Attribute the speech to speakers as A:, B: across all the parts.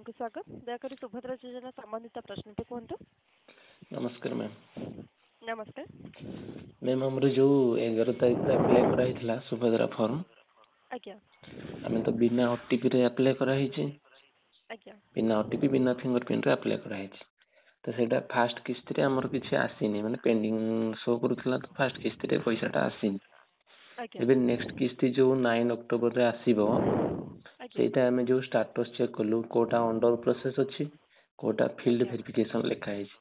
A: ହେଲ୍ପଲାଇନ୍କୁ ସ୍ୱାଗତ। ଦୟାକରି ସୁଭଦ୍ରା ଯୋଜନା ସମ୍ବନ୍ଧିତ ପ୍ରଶ୍ନଟି କୁହନ୍ତୁ।
B: ନମସ୍କାର ମ୍ୟାମ୍।
A: ନମସ୍କାର।
B: ମ୍ୟାମ୍, ଆମର ଯୋଉ 11 ତାରିଖରେ ଆପ୍ଲାଏ କରାହେଇଥିଲା ସୁଭଦ୍ରା ଫର୍ମ, ଆମେ ତ ବିନା ଓଟିପିରେ ଆପ୍ଲାଏ କରାହେଇଛି। ବିନା ଓଟିପି, ବିନା ଫିଙ୍ଗର ପ୍ରିଣ୍ଟରେ ଆପ୍ଲାଏ କରାହେଇଛି। ତ ସେଇଟା ଫାଷ୍ଟ କିସ୍ତିରେ ଆମର କିଛି ଆସିନି, ମାନେ ପେଣ୍ଡିଂ ଶୋ କରୁଥିଲା। ତ ଫାଷ୍ଟ କିସ୍ତିରେ ପଇସାଟା ଆସିନି। ଏବେ ନେକ୍ସଟ କିସ୍ତି ଯୋଉ 9 ଅକ୍ଟୋବରରେ ଆସିବ, ସେଇଟା ଆମେ ଯୋଉ ଷ୍ଟାଟସ୍ ଚେକ୍ କଲୁ, କୋଉଟା ଅଣ୍ଡର ପ୍ରୋସେସ୍ ଅଛି, କୋଉଟା ଫିଲ୍ଡ ଭେରିଫିକେସନ ଲେଖା ହେଇଛି।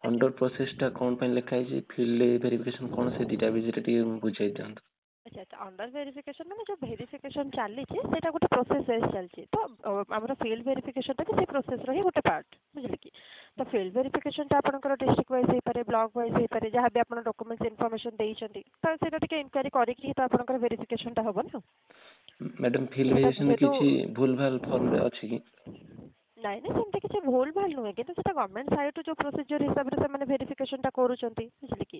B: ଅଣ୍ଡର ପ୍ରୋସେସଟା କଣ ପାଇଁ ଲେଖା ହେଇଛି, ଫିଲ୍ଡ ଭେରିଫିକେସନ କଣ, ସେ ଦିଟା ବିଷୟରେ ଟିକେ ବୁଝେଇ ଦିଅନ୍ତୁ।
A: ଆଚ୍ଛା, ଅଣ୍ଡର ଭେରିଫିକେସନ ମାନେ ଯୋଉ ଭେରିଫିକେସନ ଚାଲିଛି, ସେଇଟା ଗୋଟେ ପ୍ରୋସେସ ୱାଇଜ ଚାଲିଛି। ତ ଆମର ଫିଲ୍ଡ ଭେରିଫିକେସନଟା ବି ସେଇ ପ୍ରୋସେସର ହିଁ ଗୋଟେ ପାର୍ଟ, ବୁଝିଲେ କି? ତ ଫିଲ୍ଡ ଭେରିଫିକେସନଟା ଆପଣଙ୍କର ଡିଷ୍ଟ୍ରିକ୍ଟ ୱାଇଜ ହେଇପାରେ, ବ୍ଲକ ୱାଇଜ ହେଇପାରେ, ଯାହା ବି ଆପଣ ଡକୁମେଣ୍ଟସ ଇନଫର୍ମେସନ ଦେଇଛନ୍ତି, ତ ସେଇଟା ଟିକେ ଇନକ୍ୱାରି କରିକି ହିଁ ତ ଆପଣଙ୍କର ଭେରିଫିକେସନଟା ହବ ନା।
B: ମ୍ୟାଡାମ, ଫିଲ୍ଡ
A: ସେଇଟା
B: ଭେରିଫିକେସନ
A: ଯେହେତୁ
B: କିଛି ଭୁଲ ଭାଲ ଫର୍ମରେ ଅଛି କି?
A: ନାଇଁ, ସେମିତି କିଛି ଭୁଲ ଭାଲ ନୁହେଁ, କିନ୍ତୁ ସେଟା ଗଭର୍ଣ୍ଣମେଣ୍ଟ ସାଇଡରୁ ଯୋଉ ପ୍ରୋସିଜିଓର ହିସାବରେ ସେମାନେ ଭେରିଫିକେସନଟା କରୁଛନ୍ତି, ବୁଝିଲେ କି?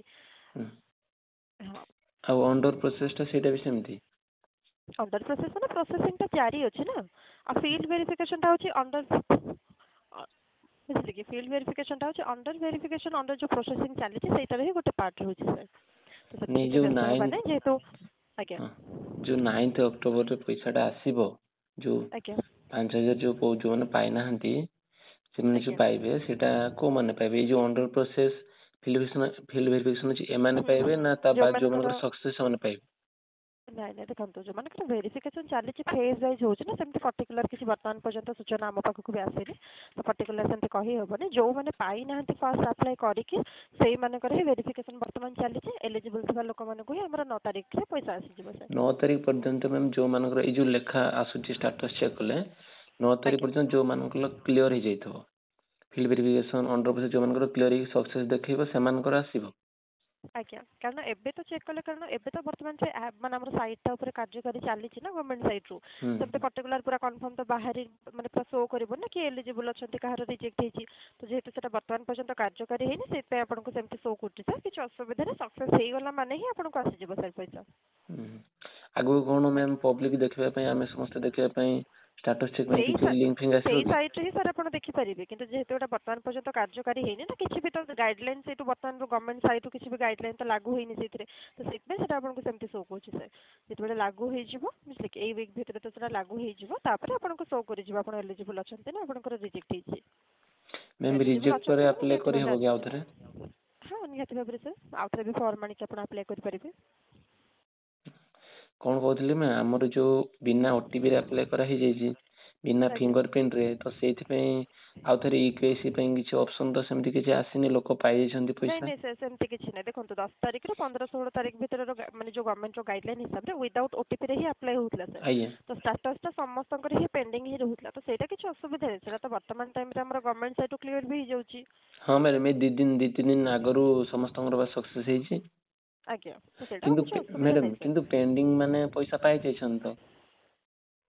A: ହଁ।
B: ଆଉ ଅଣ୍ଡର ପ୍ରୋସେସଟା, ସେଇଟା ବି ସେମିତି?
A: ଅଣ୍ଡର ପ୍ରୋସେସ ମାନେ ପ୍ରୋସେସିଂଟା ଜାରି ଅଛି ନା। ଆଉ ଫିଲ୍ଡ ଭେରିଫିକେସନଟା ହଉଛି ଅଣ୍ଡର, ବୁଝିଲେ କି? ଫିଲ୍ଡ ଭେରିଫିକେସନଟା ହଉଛି ଅଣ୍ଡର ଭେରିଫିକେସନ, ଅଣ୍ଡର ଯୋଉ ପ୍ରୋସେସିଂ ଚାଲିଛି, ସେଇଟାର ହିଁ ଗୋଟେ ପାର୍ଟ ରହୁଛି ସାର୍। ତ ସେଥିରେ
B: ନାଇଁ,
A: କିଛି
B: ଯୋଉ
A: ବ୍ୟସ୍ତ ହେବା
B: ନାଇନ୍
A: ନାହିଁ ଯେହେତୁ। ଆଜ୍ଞା।
B: ହଁ, ଯୋଉ 9th ଅକ୍ଟୋବରରେ ପଇସାଟା ଆସିବ, ଯୋଉ 5,000 ଯୋଉ ଯୋଉମାନେ ପାଇନାହାନ୍ତି, ସେମାନେ ଯୋଉ ପାଇବେ, ସେଇଟା କୋଉମାନେ ପାଇବେ? ଏଇ ଯୋଉ under process, field verification ଅଛି, ଏମାନେ ପାଇବେ ନା ତା ବାଦ
A: ଯୋଉମାନଙ୍କର
B: ଯୋଉମାନଙ୍କର ସକ୍ସେସ, ସେମାନେ ପାଇବେ?
A: ନାଇଁ, ଦେଖନ୍ତୁ, ଯୋଉମାନଙ୍କର ଭେରିଫିକେସନ ଚାଲିଛି, ଫେଜ୍ ୱାଇଜ ହଉଛି ନା। ସେମିତି ପର୍ଟିକୁଲାର କିଛି ବର୍ତ୍ତମାନ ପର୍ଯ୍ୟନ୍ତ ସୂଚନା ଆମ ପାଖକୁ ବି ଆସିନି, ତ ପର୍ଟିକୁଲାର ସେମିତି କହିହେବନି। ଯୋଉମାନେ ପାଇନାହାନ୍ତି ଫାଷ୍ଟ ଆପ୍ଲାଏ କରିକି, ସେଇମାନଙ୍କର ହିଁ ଭେରିଫିକେସନ ବର୍ତ୍ତମାନ ଚାଲିଛି। ଏଲିଜିବଲ ଥିବା ଲୋକମାନଙ୍କୁ ହିଁ ଆମର 9 ତାରିଖରେ ପଇସା ଆସିଯିବ ସାର୍।
B: 9 ତାରିଖ ପର୍ଯ୍ୟନ୍ତ ମ୍ୟାମ୍, ଯୋଉମାନଙ୍କର ଏଇ ଯୋଉ ଲେଖା ଆସୁଛି ଷ୍ଟାଟସ ଚେକ୍ କଲେ, 9 ତାରିଖ ପର୍ଯ୍ୟନ୍ତ ଯୋଉମାନଙ୍କର କ୍ଲିୟର ହେଇଯାଇଥିବ, ଫିଲ୍ଡ ଭେରିଫିକେସନ, ଅଣ୍ଡର ପ୍ରୋସେସ ଯୋଉମାନଙ୍କର କ୍ଲିୟର ହେଇକି ସକ୍ସେସ ଦେଖେଇବ, ସେମାନଙ୍କର ଆସିବ?
A: ଆଜ୍ଞା, କାରଣ ଏବେ ତ ଚେକ୍ କଲେ, କାରଣ ଏବେ ତ ବର୍ତ୍ତମାନ ସେ ଆପ୍ ମାନେ ଆମର ସାଇଟ୍ ଟା ଉପରେ କାର୍ଯ୍ୟକାରୀ ଚାଲିଛି ନା ଗଭର୍ଣ୍ଣମେଣ୍ଟ ସାଇଟ୍ ରୁ। ସେମିତି ପର୍ଟିକୁଲାର ପୁରା କନଫର୍ମ ତ ବାହାରି ମାନେ ପୁରା ଶୋ କରିବ ନା କି ଏଲିଜିବଲ ଅଛନ୍ତି, କାହାର ରିଜେକ୍ଟ ହେଇଛି। ତ ଯେହେତୁ ସେଟା ବର୍ତ୍ତମାନ ପର୍ଯ୍ୟନ୍ତ କାର୍ଯ୍ୟକାରୀ ହେଇନି, ସେଇଥିପାଇଁ ଆପଣଙ୍କୁ ସେମିତି ଶୋ କରୁଛି ସାର୍। କିଛି ଅସୁବିଧା ନାହିଁ, ସକ୍ସେସ୍ ହେଇଗଲା ମାନେ ହିଁ ଆପଣଙ୍କୁ ଆସିଯିବ ସାର୍ ପଇସା।
B: ଆଗକୁ କଣ ମ୍ୟାମ୍, ପବ୍ଲିକ ଦେଖିବା ପାଇଁ, ଆମେ ସମସ୍ତେ ଦେଖିବା ପାଇଁ, ଷ୍ଟାଟସ ଚେକ୍ ପାଇଁ
A: ସେଇ
B: କିଛି ଲିଙ୍କ ଫିଙ୍କ ଆସିବ
A: ସେଇ
B: କି?
A: ସାଇଟ୍ରେ ହିଁ ସାର୍ ଆପଣ ଦେଖିପାରିବେ। କିନ୍ତୁ ଯେହେତୁ ଏଇଟା ବର୍ତ୍ତମାନ ପର୍ଯ୍ୟନ୍ତ କାର୍ଯ୍ୟକାରୀ ହେଇନି ନା, କିଛି ବି ତ ଗାଇଡଲାଇନ ସେଇଠୁ ବର୍ତ୍ତମାନ ଗଭର୍ଣ୍ଣମେଣ୍ଟ ସାଇଟ୍ରୁ କିଛି ବି ଗାଇଡଲାଇନ ତ ଲାଗୁ ହେଇନି ସେଇଥିରେ, ତ ସେଇଥିପାଇଁ ସେଟା ଆପଣଙ୍କୁ ସେମିତି ଶୋ କରୁଛି ସାର୍। ଯେତେବେଳେ ଲାଗୁ ହେଇଯିବ, ବୁଝିଲେ କି, ଏଇ ୱିକ୍ ଭିତରେ ତ ସେଟା ଲାଗୁ ହେଇଯିବ, ତାପରେ ଆପଣଙ୍କୁ ଶୋ କରିଯିବ ଆପଣ ଏଲିଜିବଲ ଅଛନ୍ତି ନା ଆପଣଙ୍କର ରିଜେକ୍ଟ ହେଇଛି।
B: ମ୍ୟାମ୍,
A: ଏଲିଜିବଲ
B: ରିଜେକ୍ଟ
A: ଅଛନ୍ତି
B: ପରେ
A: ମାନେ
B: ଆପ୍ଲାଏ
A: ନିହାତି ଭାବରେ
B: କରିହବ କି
A: ଆସିଯିବ।
B: ଆଉଥରେ?
A: ହଁ, ନିହାତି ଭାବରେ ସାର୍, ଆଉଥରେ ବି ଫର୍ମ ଆଣିକି ଆପଣ ଆପ୍ଲାଏ କରିପାରିବେ।
B: କଣ କହୁଥିଲି ନା, ଆମର ଯୋଉ ବିନା ଓଟିପି ରେ ଆପ୍ଲାଏ କରା ହେଇଯାଇଛି, ବିନା ଫିଙ୍ଗର ପ୍ରିଣ୍ଟ ରେ, ତ ସେଇଥିପାଇଁ ଆଉ ଥରେ ଇକେୱାଇସି ପାଇଁ କିଛି ଅପସନ ତ ସେମିତି କିଛି ଆସିନି? ଲୋକ ପାଇଯାଇଛନ୍ତି
A: ନାଇଁ।
B: ପଇସା?
A: ନାଇଁ ସାର୍, ସେମିତି କିଛି ନାହିଁ। ଦେଖନ୍ତୁ, 10 ତାରିଖରୁ 15 16 ତାରିଖ ଭିତରର ମାନେ ଯୋଉ ଗଭର୍ଣ୍ଣମେଣ୍ଟର ଗାଇଡଲାଇନ ହିସାବରେ ୱିଦାଉଟ୍ ଓଟିପି ରେ ହିଁ ଆପ୍ଲାଏ ହଉଥିଲା ସାର୍। ତ ଷ୍ଟାଟସଟା ସମସ୍ତଙ୍କର ହିଁ ପେଣ୍ଡିଂ ହିଁ ରହୁଥିଲା। ତ ସେଇଟା କିଛି ଅସୁବିଧା ନାହିଁ, ସେଇଟା ତ ବର୍ତ୍ତମାନ ଟାଇମରେ ଆମର ଗଭର୍ଣ୍ଣମେଣ୍ଟ ସାଇଡରୁ କ୍ଲିୟର ବି ହେଇଯାଉଛି।
B: ହଁ ମ୍ୟାଡ଼ାମ, ଏଇ 2 ଦିନ, 2-3 ଦିନ ଆଗରୁ ସମସ୍ତଙ୍କର ବା ସକ୍ସେସ ହେଇଛି।
A: ଆଜ୍ଞା, ତ ସେଇଟା ଆଉ
B: କିନ୍ତୁ
A: କିଛି ଅସୁବିଧା
B: ମ୍ୟାଡ଼ାମ,
A: ନାହିଁ ସାର୍।
B: କିନ୍ତୁ ପେଣ୍ଡିଂ ମାନେ ପଇସା ପାଇଯାଇଛନ୍ତି ତ?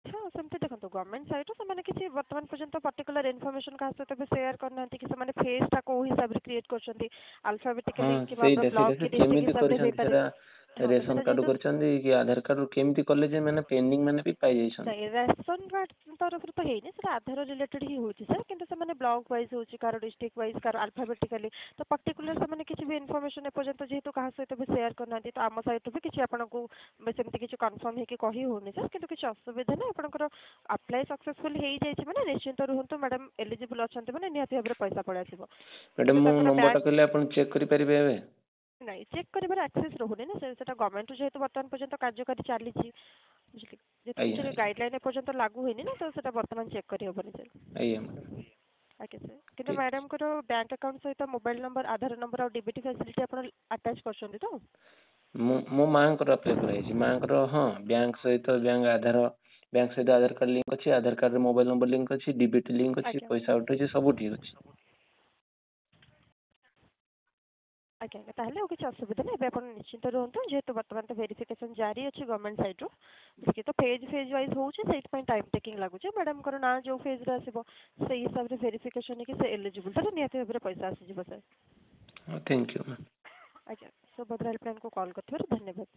A: ହଁ, ସେମିତି ଦେଖନ୍ତୁ, ଗଭର୍ଣ୍ଣମେଣ୍ଟ ସାଇଡରୁ ସେମାନେ କିଛି ବର୍ତ୍ତମାନ ପର୍ଯ୍ୟନ୍ତ ପର୍ଟିକୁଲାର ଇନଫର୍ମେସନ କାହା ସହିତ ବି ସେୟାର କରିନାହାନ୍ତି କି ସେମାନେ ଫେଜଟା କୋଉ ହିସାବରେ କ୍ରିଏଟ କରୁଛନ୍ତି, ଆଲଫାବେଟିକାଲି କିମ୍ବା
B: ସେଇଟା
A: ଆମର ବ୍ଲକ
B: ସେଇଟା ସେ
A: କି ଡିଷ୍ଟ୍ରିକ୍ଟ
B: କେମିତି
A: ହିସାବରେ
B: କରିଛନ୍ତି
A: ହେଇପାରେ।
B: ସେଟା?
A: ହଁ, ତ
B: ରେସନ
A: ସେଟା
B: କାର୍ଡ
A: ଯେହେତୁ
B: କରିଛନ୍ତି କି ଆଧାର କାର୍ଡ, କେମିତି କଲେ ଯେ ମାନେ ପେଣ୍ଡିଂ ମାନେ ବି ପାଇଯାଇଛନ୍ତି?
A: ନାଇଁ, ରାସନ କାର୍ଡ ତରଫରୁ ତ ହେଇନି, ସେଟା ଆଧାର ରିଲେଟେଡ ହିଁ ହଉଛି ସାର୍। କିନ୍ତୁ ସେମାନେ ବ୍ଲକ ୱାଇଜ ହଉଛି, କାହାର ଡିଷ୍ଟ୍ରିକ୍ଟ ୱାଇଜ, କାହାର ଆଲଫାବେଟିକାଲି, ତ ପର୍ଟିକୁଲାର ସେମାନେ କିଛି ବି ଇନଫର୍ମେସନ ଏପର୍ଯ୍ୟନ୍ତ ଯେହେତୁ କାହା ସହିତ ବି ସେୟାର କରିନାହାନ୍ତି, ତ ଆମ ସାଇଡରୁ ବି କିଛି ଆପଣଙ୍କୁ ସେମିତି କିଛି କନଫର୍ମ ହେଇକି କହି ହଉନି ସାର୍। କିନ୍ତୁ କିଛି ଅସୁବିଧା ନାହିଁ, ଆପଣଙ୍କର ଆପ୍ଲାଏ ସକ୍ସେସଫୁଲ ହେଇଯାଇଛି ମାନେ ନିଶ୍ଚିନ୍ତ ରୁହନ୍ତୁ ମ୍ୟାଡାମ, ଏଲିଜିବଲ ଅଛନ୍ତି ମାନେ ନିହାତି ଭାବରେ ପଇସା ପଳେଇ ଆସିବ।
B: ମ୍ୟାଡ଼ାମ,
A: କିନ୍ତୁ
B: ମୁଁ
A: ତାଙ୍କର
B: ନମ୍ବରଟା
A: ବ୍ୟାଙ୍କ
B: କହିଲେ ଆପଣ ଚେକ୍ କରିପାରିବେ ଏବେ?
A: ନାଇଁ, ଚେକ୍ କରିବାର ଆକ୍ସେସ୍ ରହୁନି ନା ସାର୍। ସେଟା ଗଭର୍ଣ୍ଣମେଣ୍ଟରୁ ଯେହେତୁ ବର୍ତ୍ତମାନ ପର୍ଯ୍ୟନ୍ତ କାର୍ଯ୍ୟକାରୀ ଚାଲିଛି, ବୁଝିଲେ, ଯେହେତୁ କିଛି ଗାଇଡଲାଇନ ଏପର୍ଯ୍ୟନ୍ତ ଲାଗୁ ହେଇନି ନା, ତ ସେଟା ବର୍ତ୍ତମାନ ଚେକ୍ କରିହବନି ସାର୍।
B: ଆଜ୍ଞା ମ୍ୟାଡ଼ାମ।
A: ଆଜ୍ଞା ସାର୍, କିନ୍ତୁ
B: ଠିକ।
A: ମ୍ୟାଡାମଙ୍କର ବ୍ୟାଙ୍କ ଆକାଉଣ୍ଟ ସହିତ ମୋବାଇଲ ନମ୍ବର, ଆଧାର ନମ୍ବର ଆଉ ଡିବିଟି ଫ୍ୟାସିଲିଟି ଆପଣ ଆଟାଚ୍ କରିଛନ୍ତି ତ?
B: ମୁଁ ମୋ ମାଆଙ୍କର ଆପ୍ଲାଏ କରାହେଇଛି। ମାଆଙ୍କର, ହଁ, ବ୍ୟାଙ୍କ ସହିତ ବ୍ୟାଙ୍କ ଆଧାର, ବ୍ୟାଙ୍କ ସହିତ ଆଧାର କାର୍ଡ ଲିଙ୍କ ଅଛି, ଆଧାର କାର୍ଡରେ ମୋବାଇଲ ନମ୍ବର ଲିଙ୍କ ଅଛି, ଡିବିଟି ଲିଙ୍କ ଅଛି, ପଇସା ଉଠୁଛି, ସବୁ ଠିକ ଅଛି।
A: ଆଜ୍ଞା, ତାହେଲେ ଆଉ କିଛି ଅସୁବିଧା ନାହିଁ। ଏବେ ଆପଣ ନିଶ୍ଚିନ୍ତ ରୁହନ୍ତୁ। ଯେହେତୁ ବର୍ତ୍ତମାନ ତ ଭେରିଫିକେସନ ଜାରି ଅଛି ଗଭର୍ଣ୍ଣମେଣ୍ଟ ସାଇଡରୁ, ଟିକେ ତ ଫେଜ୍ ୱାଇଜ ହଉଛି, ସେଇଥିପାଇଁ ଟାଇମ୍ ଟେକିଂ ଲାଗୁଛି। ମ୍ୟାଡାମଙ୍କର ନାଁ ଯୋଉ ଫେଜ୍ରେ ଆସିବ, ସେଇ ହିସାବରେ ଭେରିଫିକେସନ ହେଇକି ସେ ଏଲିଜିବଲ ତାହେଲେ ନିହାତି ଭାବରେ ପଇସା ଆସିଯିବ ସାର୍।
B: ହଁ, thank you ma'am.
A: ଆଜ୍ଞା, ସୁଭଦ୍ରା ହେଲ୍ପଲାଇନକୁ କଲ୍ କରିଥିବାରୁ ଧନ୍ୟବାଦ।